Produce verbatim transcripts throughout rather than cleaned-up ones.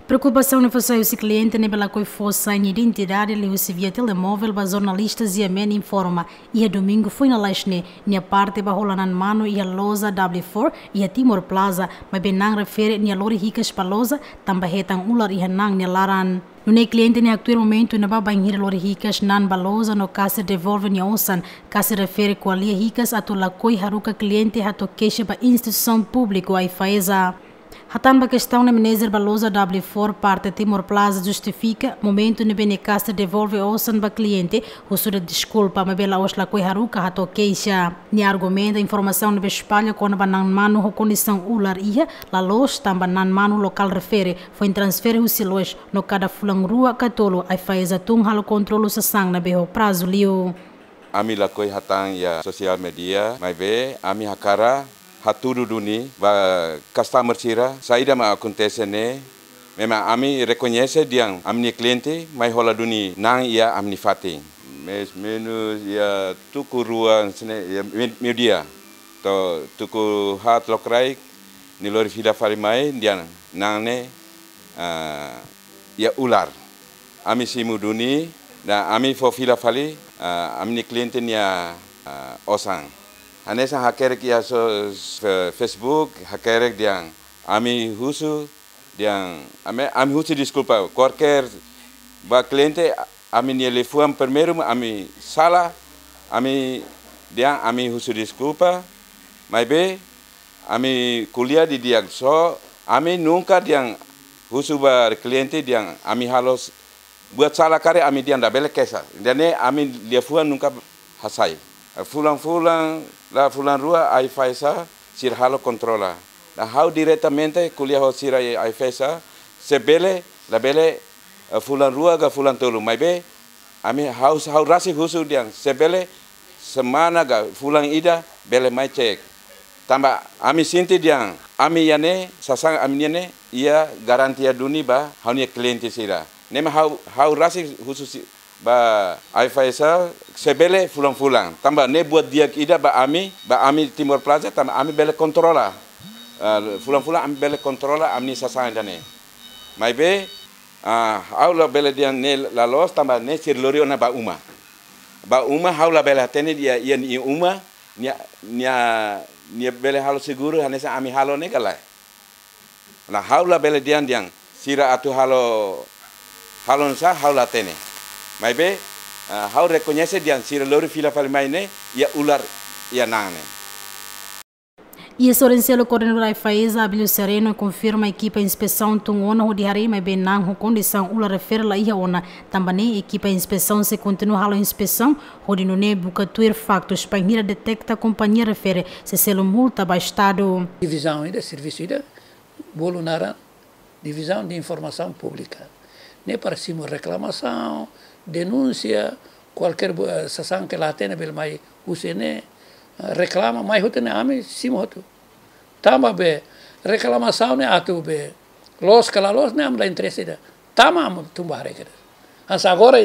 Preokupasaun ne'e fó sai husi kliente ne'ebé lakohi fó sai nia identidade liuhusi via telemovel ba jornalista G M N informa, iha domingu foin lalais ne'e, nia parte ba hola na'an manu iha loja W four iha Timor Plaza, maibé na'an refere nia lori hikas ba loja, tanba hetan ular iha na'an nia laran. Nune'e kliente ne'e haktuir momentu ne'ebá bainhira lori hikas na'an ba loja no kaser devolve nia osan, kaser refere ko'alia hikas atu lakohi haruka kliente hato'o keixa ba instituisaun públiku AIFAESA. Hatán ba kestaun ne'e, manejer ba loja W four parte Timor Plaza justifika momentu ne'ebé nia kaser devolve osan ba kliente, husu de'it deskulpa, maibé la'ós lakohi haruka hato'o keixa. Nia argumenta informasaun ne'ebé espalla kona-ba na'an manu ho kondisaun ular iha, la loos tanba na'an manu lokál refere foin transfere husi loja no kada fulan rua ka tolu AIFAESA tun halo kontrolu sasán ne'ebé ho prazu liu. Ami lakohi hatán iha sosiál media, maibé ami hakarak hatudu duni ba customer sira, saida mak akontese ne'e, memang ami rekoñese dehan ami-nia kliente mai hola duni na'an iha ami-nia fatin. Mais menus iha tuku rua hanesan ne'e, iha me-, meiudia. To'o tuku haat lokraik, nia lori fila fali mai, dehan na'an ne'e, ah, iha ular. Ami simu duni, no ami fó fila fali, ah, ami-nia kliente nia, ah, osan. Hanesan hakerek iha so-, fe-, Facebook, hakerek dehan ami husu, dehan ami, ami husu deskulpa. Kualkér ba kliente, ami-nia liafuan primeiru, ami sala, ami dehan ami husu deskulpa, maibé ami ko'alia didi'ak, só ami nunka dehan husu ba kliente dehan ami halo s-, buat sala karik ami dehan labele keixa. Ida-ne'e ami liafuan nunka hasai. Fulan-fulan, la fulan rua AIFAESA sira halo kontrola. No ha'u diretamente ko'alia ho sira iha AIFAESA, se bele, labele, eh, fulan rua ka fulan tolu. Maibé, ami ha'u, ha'u rasik husu dehan, se bele semana ka fulan ida bele mai cek. Tanba ami sente dehan ami iha ne'e, sasán ami-nian ne'e, iha garantia duni ba ha'u-nia kliente sira. Ne'e mak ha'u, ha'u rasik husu si-, ba AIFAESA, se bele fulan-fulan. Tanba ne'e buat di'ak ida ba ami, ba ami Timor Plaza, tanba ami bele kontrola. Ah, fulan-fulan ami bele kontrola ami-nia sasán ida-ne'e. Maibé, ah, ha'u labele dehan ne'e la loos tanba ne'e sira lori ona ba uma. Ba uma ha'u labele hatene dehan iha, iha nia uma, nia, nia, nia bele halo seguru hanesan ami halo ne'e ka lae. No ha'u labele dehan dehan sira atu halo, halo nusá ha'u la hatene. Maibé, ah, ha'u rekoñese dehan sira lori fila fali mai ne'e iha ular iha na'an ne'e. Iha sorin seluk, koordenadór AIFAESA, Abílio Sereno, konfirma ekipa inspesaun tun ona hodi haree maibé na'an ho kondisaun ular refere la iha ona. Tanba ne'e ekipa inspesaun sei kontinua halo inspesaun, hodi nune'e buka tuir faktus, bainhira deteta kompañia refere sei selu multa ba Estadu. Divizaun ida, servisu ida, bolu naran Divizaun de Informasaun Públika. Ne'e para simu reklamasaun, denúnsia, kualkér bu-, eh, sasán ke la hatene bele mai husi ne'e, eh, reklama, mai hotu ne'e ami simu hotu. Tanba be reklamasaun ne'e atu be loos ka la loos ne'e ami la interese ida. Tanba ami tun ba haree kedas. Hanesan agora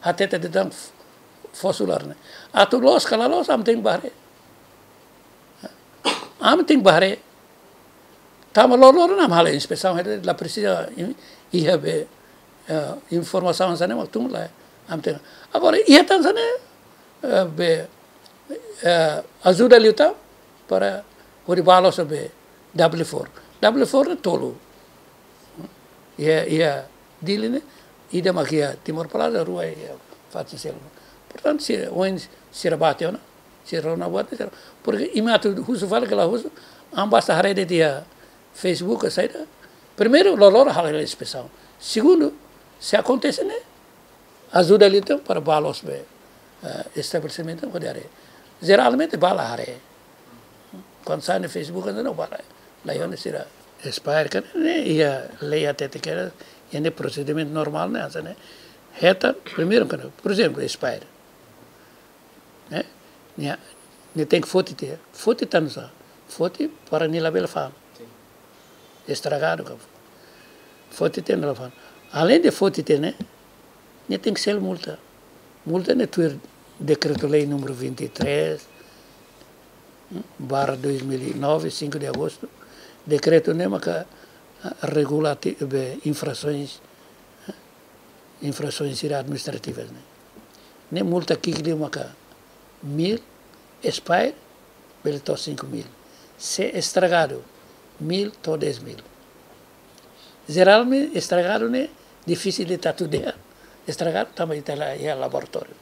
hatete de'it tan f-, fosu ular ne'e. Atu loos ka la loos ami tenke ba haree. Ami tenke ba haree. Tanba loroloron ami halo inspesaun, la presiza in-, iha be, eh, informasaun hanesan ne'e mak tun lai. Ami tenke. Agora, iha tan hanesan ne'e, eh, be, eh, ajuda liután para hodi bá loos be W four. W four ne'e tolu. Iha, iha Dili ne'e, ida mak iha Timor Plaza, rua iha fatin seluk. Portantu, sira, ohin sira bá tiha ona, sira rona buat, sira. Porke imi atu husu fali ka la husu, ami basta haree de'it iha Facebook ka saida. Primeiru, loroloron halo inspesaun. Segundu, se akontese ne'e, ajuda liután para bá loos be, eh, estabelesimentu hodi haree. Jeralmente bá la haree. Kuandu sai iha Facebook, entaun bá la, la iha ona sira. Expire kan ne'e iha lei hatete kedas, iha ne'e prosedimentu normál ne'e hanesan ne'e. Hetan, primeiru kan, por ezemplu, expire. Eh? Nia, nia tenke foti tiha. Foti tan nusá? Foti para nia labele fa'an. Sin. Estragadu ka. Foti tiha nia la fa'an. Aleinde foti tiha ne'e, nia tenke selu multa. Multa ne'e tuir Dekretu-Lei númeru vinte e três barra dois mil e nove, cinco de agosto. Dekretu ne'e maka Regula ati-, be, infrasoens, infrasoens sira administrativas ne'e. Ne'e multa ki'ik liu maka mil, expire, bele to'o cinco mil. Se estragadu, mil to'o dez mil. Jeralmente estragadu ne'e difisil ita atu dehan estragadu tanba ita la iha laboratóriu.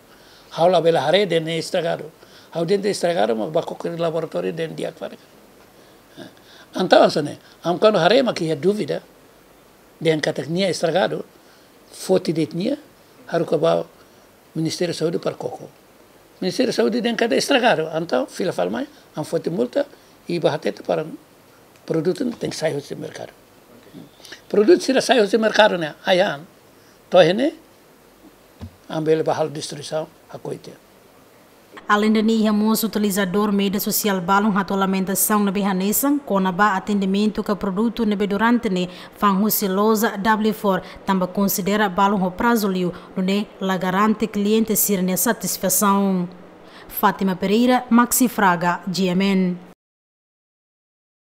Ha'u labele haree dehan ne'e estragadu. Ha'u dehan estragadu mak bá koko iha laboratóriu dehan di'ak fali. Entaun hanesan ne'e, ami kuandu haree mak iha dúvida dehan katak nia estragadu, foti de'it nia, haruka ba Ministériu Saúde para koko. Ministériu Saúde dehan katak estragadu, entaun fila fali mai, ami foti multa, i bá hatete para produtu ne'e tenke sai husi merkadu. Produtu sira sai husi merkadu ne'e, ai-han, to'o iha ne'e, ami bele bá halo destruisaun, hakoi tiha. Aleinde ne'e, iha mós utilizadór média sosiál balun hato'o lamentasaun ne'ebé hanesan kona-ba atendimentu ka produtu ne'ebé durante ne'e fa'an husi loja W four, tanba konsidera balun ho prazu liu, nune'e la garante kliente sira-nia satisfasaun. Fátima Pereira, Maxi Fraga, G M N.